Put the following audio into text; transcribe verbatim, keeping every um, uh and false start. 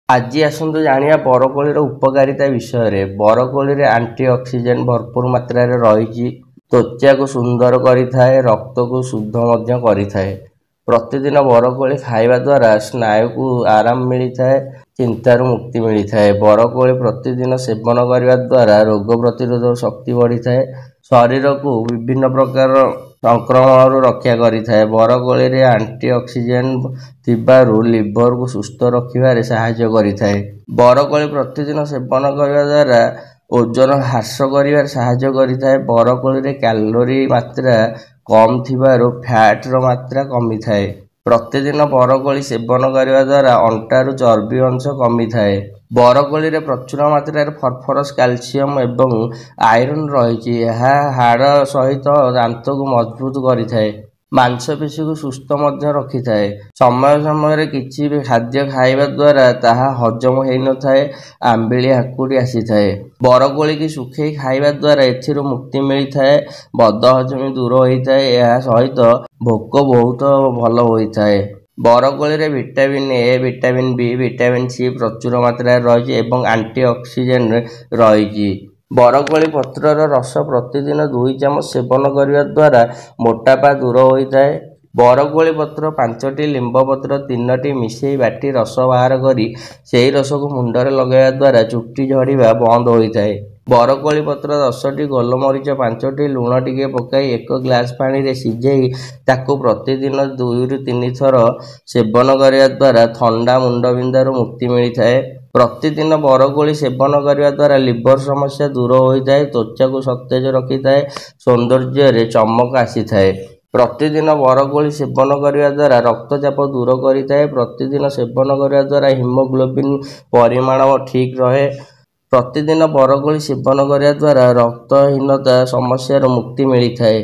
ଆଜି ଆସନ୍ତୁ ଜାଣିବା ବରକୋଳିର ଉପକାରିତା ବିଷୟରେ। ବରକୋଳିରେ ଆଣ୍ଟି ଅକ୍ସିଡେଣ୍ଟ ଭରପୁର ମାତ୍ରାରେ ରହିଛି। ତ୍ୱଚାକୁ ସୁନ୍ଦର କରିଥାଏ, ରକ୍ତକୁ ଶୁଦ୍ଧ ମଧ୍ୟ କରିଥାଏ। ପ୍ରତିଦିନ ବରକୋଳି ଖାଇବା ଦ୍ୱାରା ସ୍ନାୟୁକୁ ଆରାମ ମିଳିଥାଏ, ଚିନ୍ତାରୁ ମୁକ୍ତି ମିଳିଥାଏ। ବରକୋଳି ପ୍ରତିଦିନ ସେବନ କରିବା ଦ୍ୱାରା ରୋଗ ପ୍ରତିରୋଧକ ଶକ୍ତି ବଢ଼ିଥାଏ, ଶରୀରକୁ ବିଭିନ୍ନ ପ୍ରକାର ସଂକ୍ରମଣରୁ ରକ୍ଷା କରିଥାଏ। ବରକୋଳିରେ ଆଣ୍ଟି ଅକ୍ସିଡେଣ୍ଟ ଥିବାରୁ ଲିଭରକୁ ସୁସ୍ଥ ରଖିବାରେ ସାହାଯ୍ୟ କରିଥାଏ। ବରକୋଳି ପ୍ରତିଦିନ ସେବନ କରିବା ଦ୍ୱାରା ଓଜନ ହ୍ରାସ କରିବାରେ ସାହାଯ୍ୟ କରିଥାଏ। ବରକୋଳିରେ କ୍ୟାଲୋରୀ ମାତ୍ରା କମ୍ ଥିବାରୁ ଫ୍ୟାଟର ମାତ୍ରା କମିଥାଏ। ପ୍ରତିଦିନ ବରକୋଳି ସେବନ କରିବା ଦ୍ୱାରା ଅଣ୍ଟାରୁ ଚର୍ବି ଅଂଶ କମିଥାଏ। ବରକୋଳିରେ ପ୍ରଚୁର ମାତ୍ରାରେ ଫସଫରସ୍, କ୍ୟାଲସିୟମ ଏବଂ ଆଇରନ୍ ରହିଛି। ଏହା ହାଡ଼ ସହିତ ଦାନ୍ତକୁ ମଜବୁତ କରିଥାଏ, ମାଂସପେଶୀକୁ ସୁସ୍ଥ ମଧ୍ୟ ରଖିଥାଏ। ସମୟ ସମୟରେ କିଛି ବି ଖାଦ୍ୟ ଖାଇବା ଦ୍ୱାରା ତାହା ହଜମ ହୋଇନଥାଏ, ଆମ୍ବିଳି ହାକୁଡ଼ି ଆସିଥାଏ। ବରକୋଳିକି ଶୁଖେଇ ଖାଇବା ଦ୍ୱାରା ଏଥିରୁ ମୁକ୍ତି ମିଳିଥାଏ, ବଦହଜମି ଦୂର ହୋଇଥାଏ। ଏହା ସହିତ ଭୋକ ବହୁତ ଭଲ ହୋଇଥାଏ। ବରକୋଳିରେ vitamin A, vitamin B, vitamin C ପ୍ରଚୁର ମାତ୍ରାରେ ରହିଛି ଏବଂ ଆଣ୍ଟି ଅକ୍ସିଡେଣ୍ଟ ରହିଛି। ବରକୋଳି ପତ୍ରର ରସ ପ୍ରତିଦିନ ଦୁଇ ଚାମଚ ସେବନ କରିବା ଦ୍ୱାରା ମୋଟାପା ଦୂର ହୋଇଥାଏ। ବରକୋଳି ପତ୍ର ପାଞ୍ଚଟି, ଲିମ୍ବ ପତ୍ର ତିନୋଟି ମିଶାଇ ବାଟି ରସ ବାହାର କରି ସେହି ରସକୁ ମୁଣ୍ଡରେ ଲଗାଇବା ଦ୍ୱାରା ଚୁଟି ଝଡ଼ିବା ବନ୍ଦ ହୋଇଥାଏ। ବରକୋଳି ପତ୍ର ଦଶଟି, ଗୋଲମରିଚ ପାଞ୍ଚଟି, ଲୁଣ ଟିକେ ପକାଇ ଏକ ଗ୍ଲାସ ପାଣିରେ ସିଝାଇ ତାକୁ ପ୍ରତିଦିନ ଦୁଇରୁ ତିନି ଥର ସେବନ କରିବା ଦ୍ୱାରା ଥଣ୍ଡା, ମୁଣ୍ଡବିନ୍ଧାରୁ ମୁକ୍ତି ମିଳିଥାଏ। ପ୍ରତିଦିନ ବରକୋଳି ସେବନ କରିବା ଦ୍ୱାରା ଲିଭର ସମସ୍ୟା ଦୂର ହୋଇଥାଏ, ତ୍ୱଚାକୁ ସତେଜ ରଖିଥାଏ, ସୌନ୍ଦର୍ଯ୍ୟରେ ଚମକ ଆସିଥାଏ। ପ୍ରତିଦିନ ବରକୋଳି ସେବନ କରିବା ଦ୍ୱାରା ରକ୍ତଚାପ ଦୂର କରିଥାଏ। ପ୍ରତିଦିନ ସେବନ କରିବା ଦ୍ୱାରା ହିମୋଗ୍ଲୋବିନ୍ ପରିମାଣ ଠିକ୍ ରହେ। ପ୍ରତିଦିନ ବରକୋଳି ସେବନ କରିବା ଦ୍ୱାରା ରକ୍ତହୀନତା ସମସ୍ୟାରୁ ମୁକ୍ତି ମିଳିଥାଏ।